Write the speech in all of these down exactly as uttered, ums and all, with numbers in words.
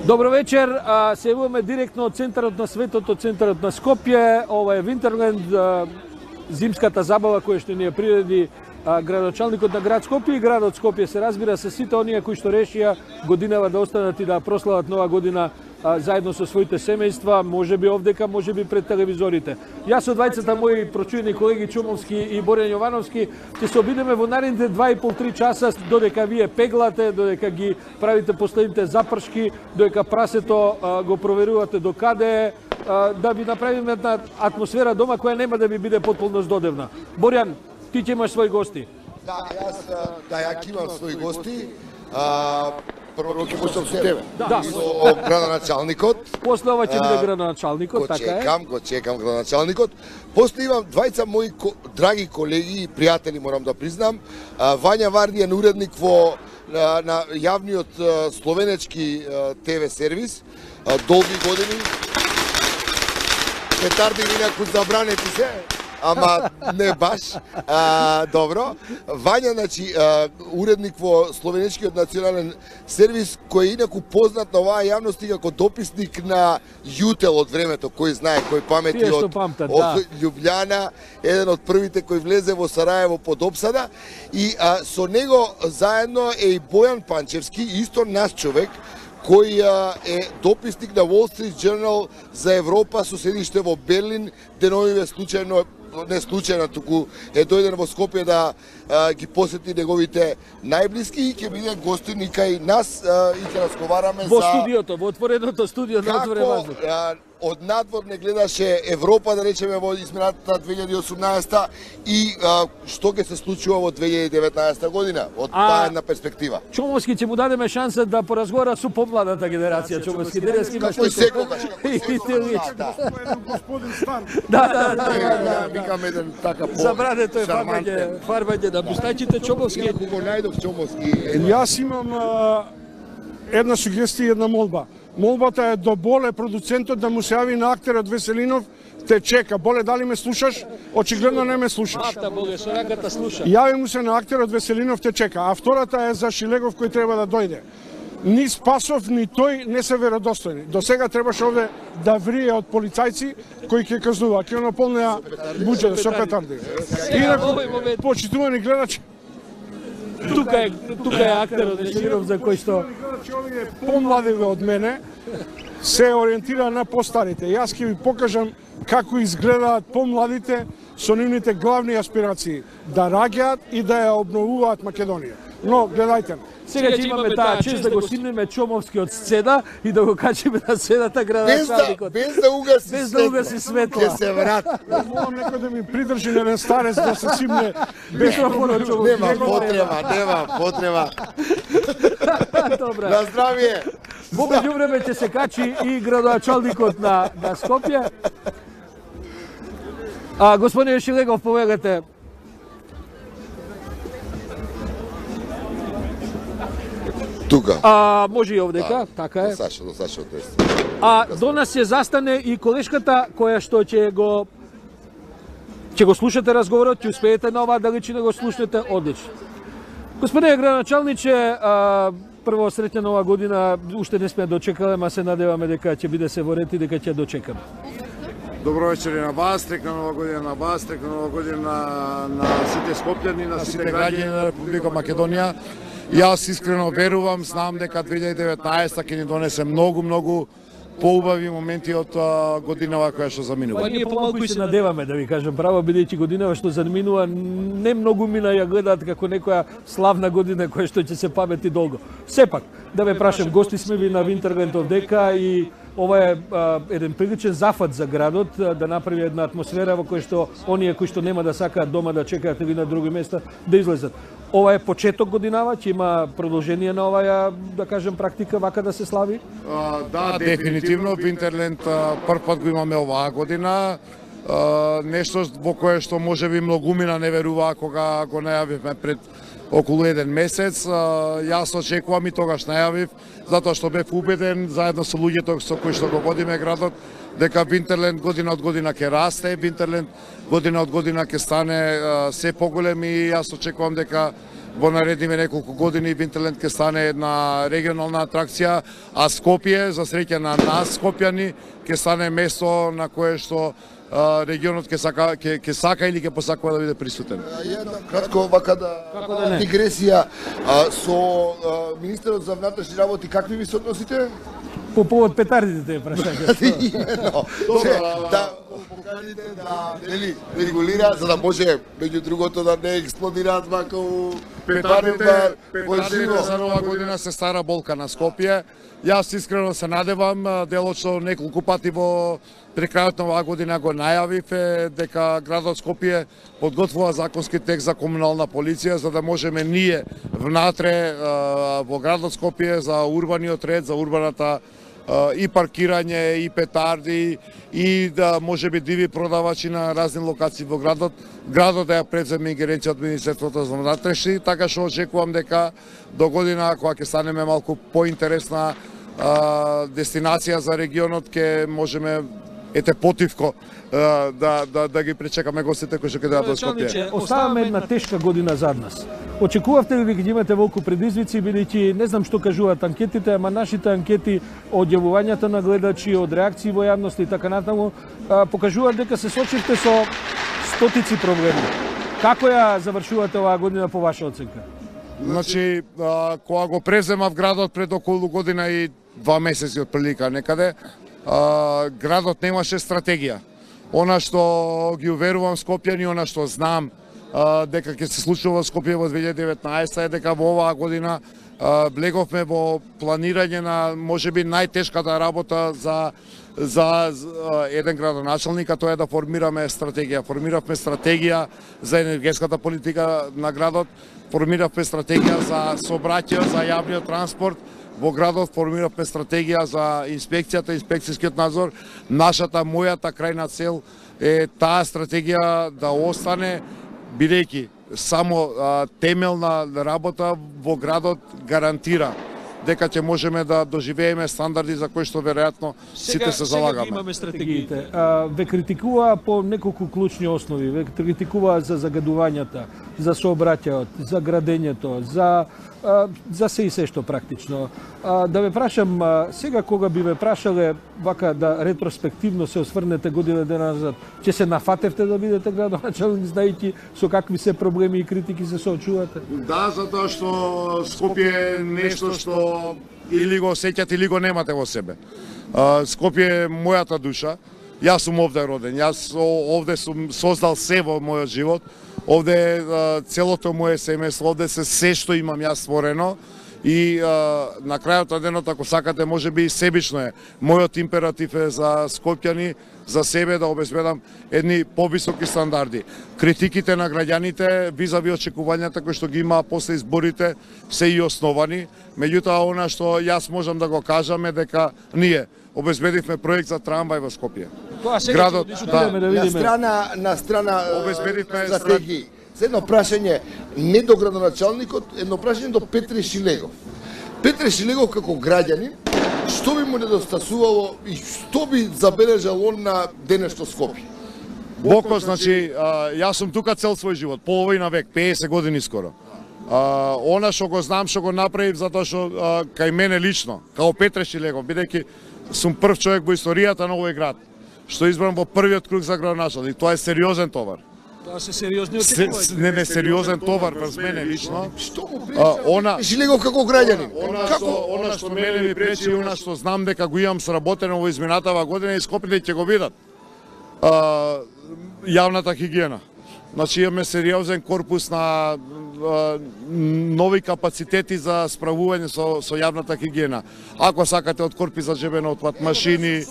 Добро вечер, а, се јавуваме директно од центарот на светот, од центарот на Скопје. Ова е Винтерленд, а, зимската забава која што ни ја приреди а, градоначалникот на град Скопје и градот Скопје, се разбира, се сите оние кои што решија годинава да останат и да прослават нова година а, заедно со своите семејства, можеби овдека, можеби пред телевизорите. Јас со двајцата мои прочуени колеги Чомовски и Борјан Јовановски ќе се обидеме во наредните два и пол три часа, додека вие пеглате, додека ги правите последните запршки, додека прасето а, го проверувате до каде, а, да ви направиме една атмосфера дома која нема да ви биде потполно здодевна. Борјан, ти ќе имаш своји гости. Да, јас да ја имам своји гости. А, прво ќе почнам со тебе. Да. Со градоначалникот. После ова ќе биде градоначалникот, така е. Го чекам, го чекам градоначалникот. После имам двајца мои ко, драги колеги и пријатели, морам да признам. А, Вања Вардијан, уредник во на, на јавниот словенечки ТВ сервис, а, долги години. Петарди инаку забранети се, ама не баш. А, добро. Вања, значи, а, уредник во словенечкиот национален сервис, кој е инаку познат на оваа јавност како дописник на Јутел од времето, кој знае, кој памети од, памтат, од да. Љубљана, еден од првите кој влезе во Сараево под опсада, и а, со него заедно е и Бојан Панчевски, исто наш човек, кој е дописник на Wall Street Journal за Европа со седиште во Берлин, деновиве случајно, не случајно, туку е дојден во Скопје да а, ги посети неговите најблиски и ќе биде гостин и кај нас а, и ќе разговараме во за... Во студиото, во отвореното студио на Отворен воздух. Како од надвор не гледаше Европа, да речеме, во измината две илјади и осумнаесета и а, што ќе се случува во две илјади и деветнаесета година, од А, таа една перспектива. Чомовски ќе му дадеме шанса да поразговара со помладата генерација. Чомовски, денес имаш Како и секогаш. И ти лич. Да, Господин Стар. Да, да, да. да, викам еден така по... Забрането е фарбање, фарбање на бустачите. Чомовски. Ако го најдов Чомовски... Јас имам а, една сугестија и една молба. Молбата е до Боле, продуцентот, да му се јави на актерот Веселинов, те чека. Боле, дали ме слушаш? Очигледно не ме слушаш. Афта, Боге, со раката слуша. Јави му се на актерот Веселинов, те чека. А втората е за Шилегов кој треба да дојде. Ни Спасов, ни тој не се веродостојни. До сега требаше овде да врие од полицајци кои ќе казнува, ќе наполнеа буџета со петарди. Инаку, почитувани гледачи, Тука е, тука е актерот Веселинов за кој што... овие помладиве од мене се ориентира на постарите. Јас ќе ви покажам како изгледаат помладите со нивните главни аспирации да раѓаат и да ја обновуваат Македонија. Но гледајте. Сега ќе имаме таа чест да го снимеме Чомовски од сцена и да го качиме на сцената Без да, градоначалникот. без да угаси Без да угаси светла. Ќе се врати. Молам некој да ми придржи на еден старец да се симне без Микрофонот, Чомовски. Нема потреба, нема потреба. Добра. На здравие. Во меѓувреме ќе се качи и градоначалникот на, на Скопје. А, господин Шилегов, повегате. Тука. А, може и овдека, така е. Сашо, до Сашо тест. А до нас ќе застане и колешката која што ќе го ќе го слушате разговорот, ќе успеете на оваа далечина го слушнете одлично. Господине градоначалниче, а, прво среќна нова година, уште не сме дочекале, ма се надеваме дека ќе биде се во ред и дека ќе дочекаме. Добро вечер и на вас, трекна нова година на вас, трекна нова година на, на сите скопјани, на сите граѓани на Република Македонија. Јас искрено верувам, знам дека две илјади и деветнаесета ќе ни донесе многу, многу поубави моменти од а, годинава која што заминува. Па ние помалку и се надеваме, да ви кажам право, бидејќи годинава што заминува, не многу мина ја гледаат како некоја славна година која што ќе се памети долго. Сепак, да ве прашам, гости сме ви на Винтерленд овдека и ова е а, еден приличен зафат за градот, а, да направи една атмосфера во која што оние кои што нема да сакаат дома да чекаат ви на други места да излезат. Ова е почеток годинава, ќе има продолжение на оваа, да кажем, практика вака да се слави? А, да, дефинитивно Винтерленд прв пат го имаме оваа година. А, нешто во кое што можеби многумина не веруваа кога го најавивме пред околу еден месец. А, јас очекувам и тогаш најавив, затоа што бев убеден заедно со луѓето со кои што го водиме градот, дека Винтерленд година од година ќе расте, Винтерленд година од година ќе стане а, се поголем и јас очекувам дека во наредниве неколку години Винтерленд ќе стане една регионална атракција, а Скопје, за среќа на нас скопјани, ќе стане место на кое што а, регионот ќе сака, ќе, ќе сака или ќе посакува да биде присутен. Една кратко вака да, да дигресија а, со а, министерот за внатрешни работи, какви ви се односите? По повод петардите те прашање. Именно. Да покажете да нели регулира за да може меѓу другото да не експлодираат вака у Петардите, петардите за нова година се стара болка на Скопје. Јас искрено се надевам, делот што неколку пати во при крајот на оваа година го најавив е дека градот Скопје подготвува законски текст за комунална полиција за да можеме ние внатре во градот Скопје за урбаниот ред, за урбаната и паркирање, и петарди, и да може би диви продавачи на разни локации во градот. Градот да ја преземе ингеренција од Министерството за внатрешни, така што очекувам дека до година, кога ќе станеме малку поинтересна дестинација за регионот, ќе можеме ете потивко да, да, да ги пречекаме гостите кои што ќе дојдат во Скопје. Оставаме една тешка година зад нас. Очекувавте ли дека имате волку предизвици, бидејќи не знам што кажуваат анкетите, ама нашите анкети од јавувањата на гледачи, од реакции во јавност и така натаму, покажуваат дека се сочивте со стотици проблеми. Како ја завршувате оваа година по ваша оценка? Значи, кога го преземав градот пред околу година и два месеци од прилика некаде, градот немаше стратегија. Она што ги уверувам скопјани, она што знам дека ќе се случува во Скопје во две илјади и деветнаесетта е дека во оваа година влеговме во планирање на можеби најтешката работа за за еден градоначалник, а тоа е да формираме стратегија. Формиравме стратегија за енергетската политика на градот, формиравме стратегија за сообраќај, за јавниот транспорт во градот, формиравме стратегија за инспекцијата, инспекцијскиот надзор. Нашата, мојата крајна цел е таа стратегија да остане, бидејќи само а, темелна работа во градот гарантира дека ќе можеме да доживееме стандарди за кои што веројатно сите се залагаме. Сега имаме стратегиите. А, ве критикуваа по неколку клучни основи. Ве критикуваа за загадувањата, за сообраќајот, за градењето, за а, за се и се што практично. А, да ве прашам, а, сега кога би ве прашале вака да ретроспективно се осврнете година дена назад, ќе се нафатевте да бидете градоначалник, знаејќи со какви се проблеми и критики се соочувате? Да, затоа што Скопје е нешто што или го сеќате или го немате во себе. Скопје е мојата душа. Јас сум овде роден. Јас овде сум создал се во мојот живот. Овде е целото моје семејство, овде се се што имам јас створено. И а, на крајот на денот, ако сакате, може би и себично е. Мојот императив е за скопјани, за себе да обезбедам едни повисоки стандарди. Критиките на граѓаните, визави очекувањата кои што ги има после изборите, се и основани. Меѓутоа, она што јас можам да го кажам е дека ние обезбедивме проект за трамвај во Скопје. Тоа сега Градот, ќе да, да на видиме. страна на страна Обезбедивме стратегии. За едно прашање не до градоначалникот, едно прашање до Петре Шилегов. Петре Шилегов како граѓанин, што би му недостасувало и што би забележал он на денешно Скопје? Боко, значи, а, јас сум тука цел свој живот, половина век, педесет години скоро. А, она што го знам, што го направив, затоа што а, кај мене лично, као Петре Шилегов, бидејќи сум прв човек во историјата на овој град, што избран во првиот круг за градоначалник, тоа е сериозен товар. Тоа се сериозни Се, очекувања. не, не, сериозен товар врз мене лично. Што му А, пречи она, Петре Шилегов како граѓанин? Она Како? што, она што мене ми пречи, она што знам дека го имам сработено во изминатава година и скопите ќе го видат. А, јавната хигиена. Значи имаме сериозен корпус на а, нови капацитети за справување со, со јавната хигиена. Ако сакате од корпи за жебен отпад, машини,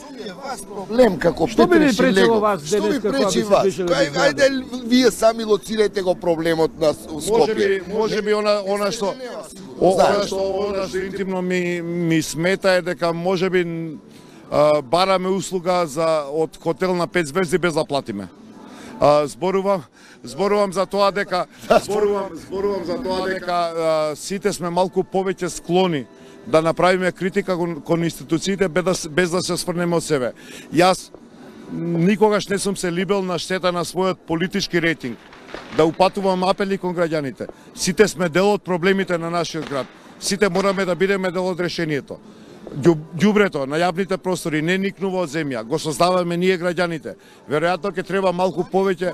Проблем како Што би Петре ви пречело Шилегов. вас Што ви денеска кога пречи би се вас? движеле Кај, низ градот? ајде вие сами лоцирајте го проблемот на може би, Скопје. може би она, она што о, она што она што интимно ми ми смета е дека може би а, бараме услуга за од хотел на пет звезди без да платиме. А, зборувам зборувам за тоа дека зборувам зборувам за тоа дека а, сите сме малку повеќе склони да направиме критика кон, кон институциите без да, без да се сврнеме од себе. Јас никогаш не сум се либел на штета на својот политички рейтинг. да упатувам апели кон граѓаните. Сите сме дел од проблемите на нашиот град. Сите мораме да бидеме дел од решението. Ѓубрето на јавните простори не никнува од земја, го создаваме ние граѓаните. Веројатно ќе треба малку повеќе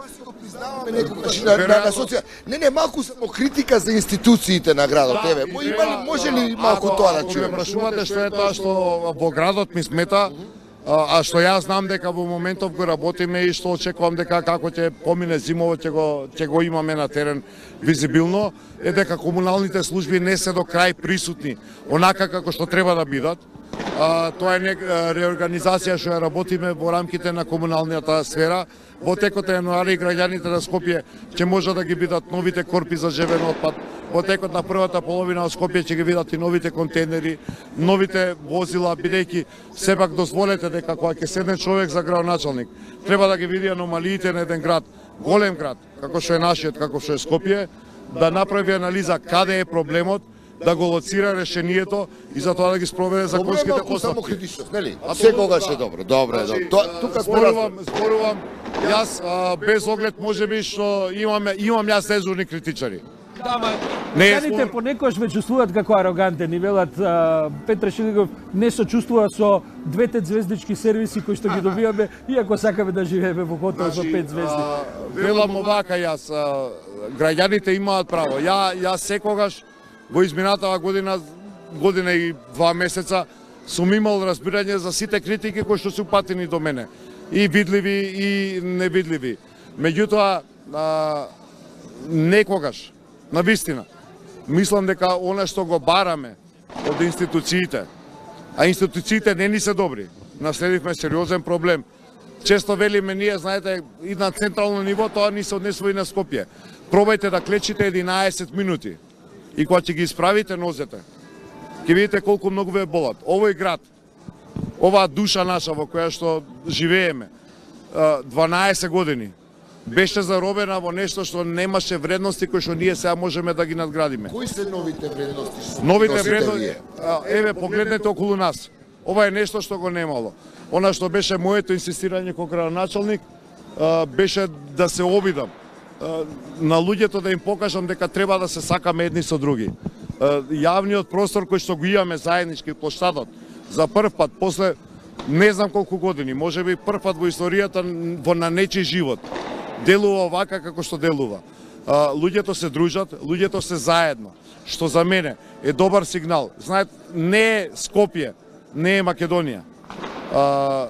на, на, на соција... Не, не, малку само критика за институциите на градот, да, еве. Има ли, може ли малку тоа да чуеме? Прашувате што е тоа што во градот ми смета, а, а што јас знам дека во моментов го работиме и што очекувам дека како ќе помине зимово ќе го ќе го имаме на терен визибилно, е дека комуналните служби не се до крај присутни онака како што треба да бидат. А, тоа е не, реорганизација што ја работиме во рамките на комуналната сфера. Во текот на јануари граѓаните на Скопје ќе може да ги видат новите корпи за жевен отпад. Во текот на првата половина од Скопје ќе ги видат и новите контейнери, новите возила, бидејќи сепак дозволете дека кога ќе седне човек за градоначалник, треба да ги види аномалиите на еден град, голем град, како што е нашиот, како што е Скопје, да направи анализа каде е проблемот, да го лоцира решението и за тоа да ги спроведе законските постапки. Само критичност, нели? Секогаш е добро. Добро е, добро. Тоа тука зборувам, зборувам јас а, без оглед можеби што имаме имам јас дежурни критичари. Да, ма, не граѓаните понекогаш ме чувствуваат како арогантен и велат а, Петре Шилегов не се чувствува со двете звездички сервиси кои што ги добиваме, иако сакаме да живееме во хотел со пет звезди. А, велам овака јас, а, граѓаните имаат право. Ја јас секогаш во изминатава година, година и два месеца сум имал разбирање за сите критики кои што се упатени до мене. И видливи и невидливи. Меѓутоа, а, некогаш, на вистина, мислам дека она што го бараме од институциите, а институциите не ни се добри, наследивме сериозен проблем. Често велиме ние, знаете, и на централно ниво тоа ни се однесува и на Скопје. Пробајте да клечите единаесет минути. И кога ќе ги исправите нозете, ќе видите колку многу ве болат. Овој град, оваа душа наша во која што живееме, дванаесет години, беше заробена во нешто што немаше вредности кои што ние сега можеме да ги надградиме. Кои се новите вредности? Новите вредности, еве погледнете околу нас. Ова е нешто што го немало. Она што беше моето инсистирање како градоначалник, беше да се обидам на луѓето да им покажам дека треба да се сакаме едни со други. Јавниот простор кој што го имаме заеднички, плоштадот, за прв пат после не знам колку години, можеби прв пат во историјата во на нечи живот, делува вака како што делува. Луѓето се дружат, луѓето се заедно, што за мене е добар сигнал. Знаете, не е Скопје, не е Македонија. Uh,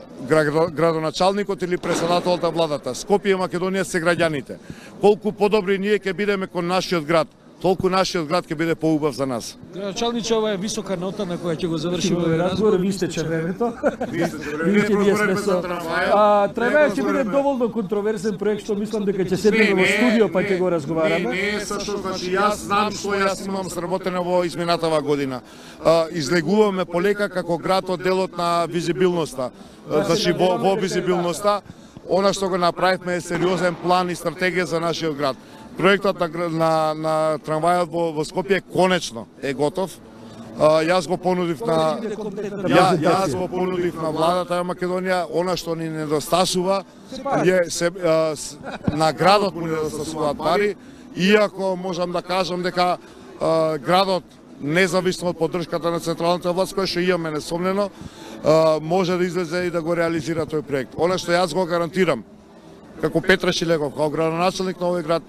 градоначалникот или председателот на владата. Скопје и Македонија се граѓаните. Колку подобри ние ќе бидеме кон нашиот град, толку нашиот град ќе биде поубав за нас. Градоначалниче, ова е висока нота на која ќе го завршиме овој разговор. Ви истече времето. Видите, ние сме со Трамвајот ќе биде доволно контроверзен проект што мислам дека ќе седнеме во студио па ќе го разговараме. Не, не, сашто, значи јас знам што јас имам сработено во изминатава година. А, излегуваме полека како град од делот на визибилноста. Значи во, во визибилноста, она што го направивме е сериозен план и стратегија за нашиот град. Проектот на, на, на трамвајот во, во Скопје конечно е готов. А, јас го понудив на ја, јас го понудив на владата на Македонија, она што ни недостасува е се а, с, на градот му недостасуваат пари, иако можам да кажам дека а, градот независно од поддршката на централната власт која што имаме несомнено, а, може да излезе и да го реализира тој проект. Она што јас го гарантирам како Петре Шилегов, како градоначалник на овој град,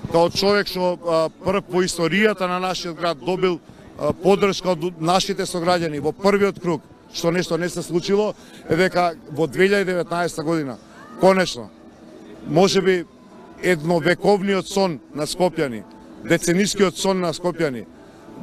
како човек што прв во историјата на нашиот град добил а, поддршка од нашите сограѓани во првиот круг, што нешто не се случило, е дека во две илјади и деветнаесета година, конечно, можеби едновековниот сон на скопјани, деценискиот сон на скопјани,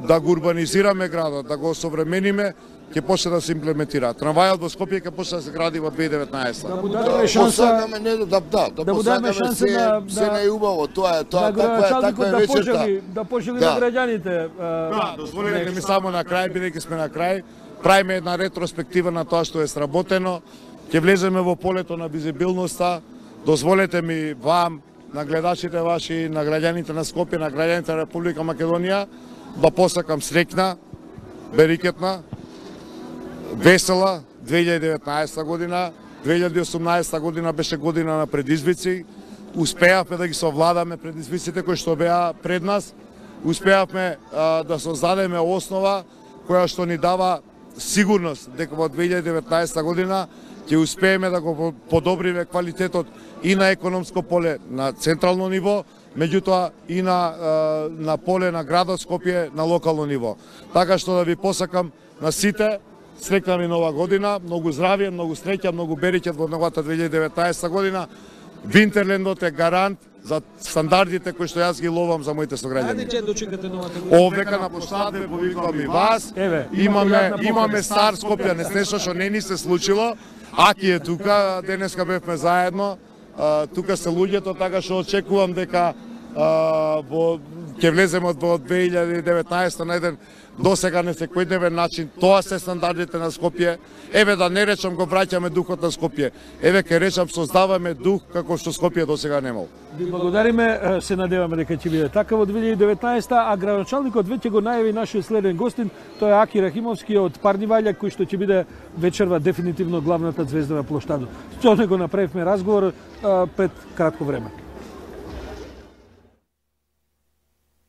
да го урбанизираме градот, да го осовремениме, ќе почне да се имплементира. Трамвајот во Скопје ќе почне да се гради во две илјади и деветнаесета. Да му дадеме шанса, посакаме не да да, да, да му дадеме шанса се, на се најубаво, тоа е, тоа таква е, таква е да вечерта. пожели, да пожели Да. на граѓаните. Да, дозволете ми само на крај, бидејќи сме на крај, правиме една ретроспектива на тоа што е сработено, ќе влеземе во полето на визибилноста, дозволете ми вам, на гледачите ваши, на граѓаните на Скопје, на граѓаните на Република Македонија, да посакам среќна, берикетна, весела две илјади и деветнаесета година. две илјади и осумнаесета година беше година на предизвици, успеавме да ги совладаме предизвиците кои што беа пред нас, успеавме а, да создадеме основа која што ни дава сигурност дека во две илјади и деветнаесета година ќе успееме да го подобриме квалитетот и на економско поле на централно ниво, меѓутоа и на, на поле на градот Скопје на локално ниво. Така што да ви посакам на сите среќна ви нова година, многу здравје, многу среќа, многу береќет во новата две илјади и деветнаесета година. Винтерлендот е гарант за стандардите кои што јас ги ловам за моите сограѓани. Ајде ќе дочекате новата година. Овдека на площадот ве повикувам и вас. Еве, имаме имаме стар Скопјанец, нешто што не ни се случило. Аки е тука, денеска бевме заедно. Uh, тука се луѓето, така што очекувам дека uh, во ќе влеземе во две илјади и деветнаесета на еден досега несекојдневен начин. Тоа се стандардите на Скопје. Еве да не речам го враќаме духот на Скопје. Еве ќе речам создаваме дух како што Скопје досега немал. Ви благодариме, се надеваме дека ќе биде така во две илјади и деветнаесета, а градоначалникот веќе го најави нашиот следен гостин, тоа е Аки Рахимовски од Парниваља, кој што ќе биде вечерва дефинитивно главната звезда на площадот. Со него направивме разговор а, пред кратко време.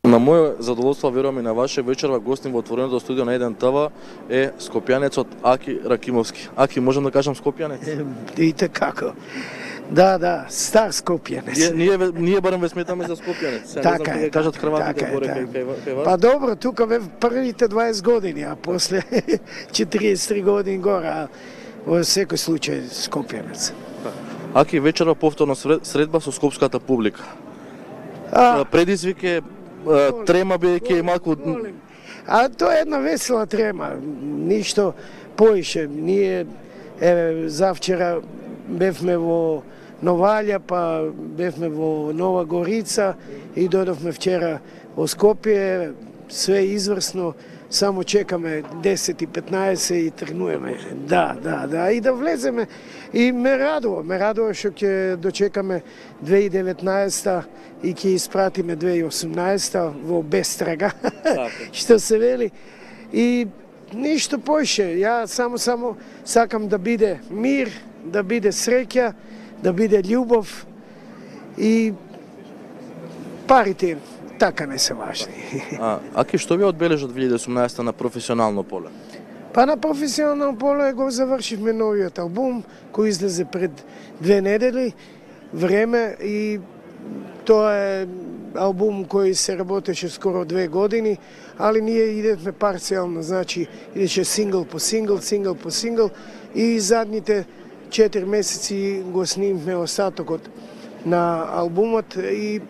На моје задоволство, верувам и на ваше, вечерва гостин во отвореното студио на еден ТВ е скопјанецот Аки Ракимовски. Аки, можам да кажам скопјанец? Видите како. Да, да, стар скопјанец. Ние, ние, ние барем ве сметаме за скопјанец. Сега така не знам е, кажат така, хрватите така горе е, кај, кај, кај вас. Па добро, тука бе првите дваесет години, а после четириесет и три години гора, а во секој случај скопјанец. Аки, вечерва повторно средба со скопската публика. А, Предизвик е трема бидејќи е малку. А тоа е една весела трема, ништо поише. Ние еве завчера бевме во Новаља, па бевме во Нова Горица и дојдовме вчера во Скопје, све изврсно, само чекаме десет и петнаесет и тргнуваме. Да, да, да, и да влеземе. И ме радува, ме радува што ќе дочекаме две илјади и деветнаесета и ќе испратиме две илјади и осумнаесета во бестрага, што се вели. И ништо поише, ја само само сакам да биде мир, да биде среќа, да биде љубов и парите така не се важни. А, Аки, што ви одбележа две илјади и осумнаесета на професионално поле? Па на професионално поле го завршивме новиот албум кој излезе пред две недели време и тоа е албум кој се работеше скоро две години, али ние идевме парцијално, значи идеше сингл по сингл, сингл по сингл и задните четири месеци го снимме остатокот на албумот и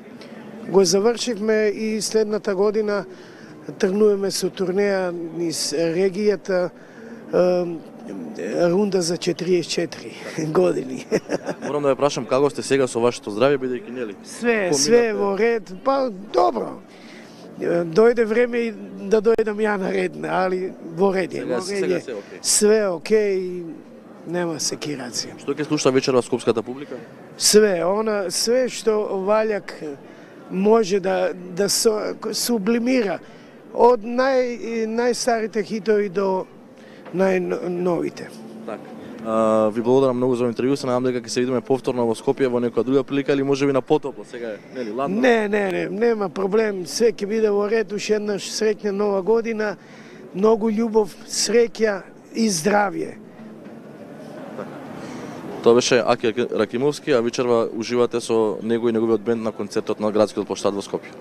го завршивме и следната година тргнуваме со турнеја низ регијата, рунда за четириесет и четири години. Морам да ве прашам како сте сега со вашето здравје, бидејќи нели? Све, све во ред, па добро. Дојде време и да дојдам ја на ред, али во ред е, во ред е. Све окей, нема секирација. Што ќе слуша вечерва скопската публика? Све, она све што Ваљак може да да со, сублимира од нај најстарите хитови до најновите. Така. А, ви благодарам многу за интервју, се надам дека ќе се видиме повторно во Скопје во некоја друга прилика или можеби на потопло, сега е, нели, ладно? Не, не, не, нема проблем, све ќе биде во ред, уште еднаш среќна нова година, многу љубов, среќа и здравје. Тоа беше Аки Ракимовски, а вечерва уживате со него и неговиот бенд на концертот на градскиот площад во Скопје.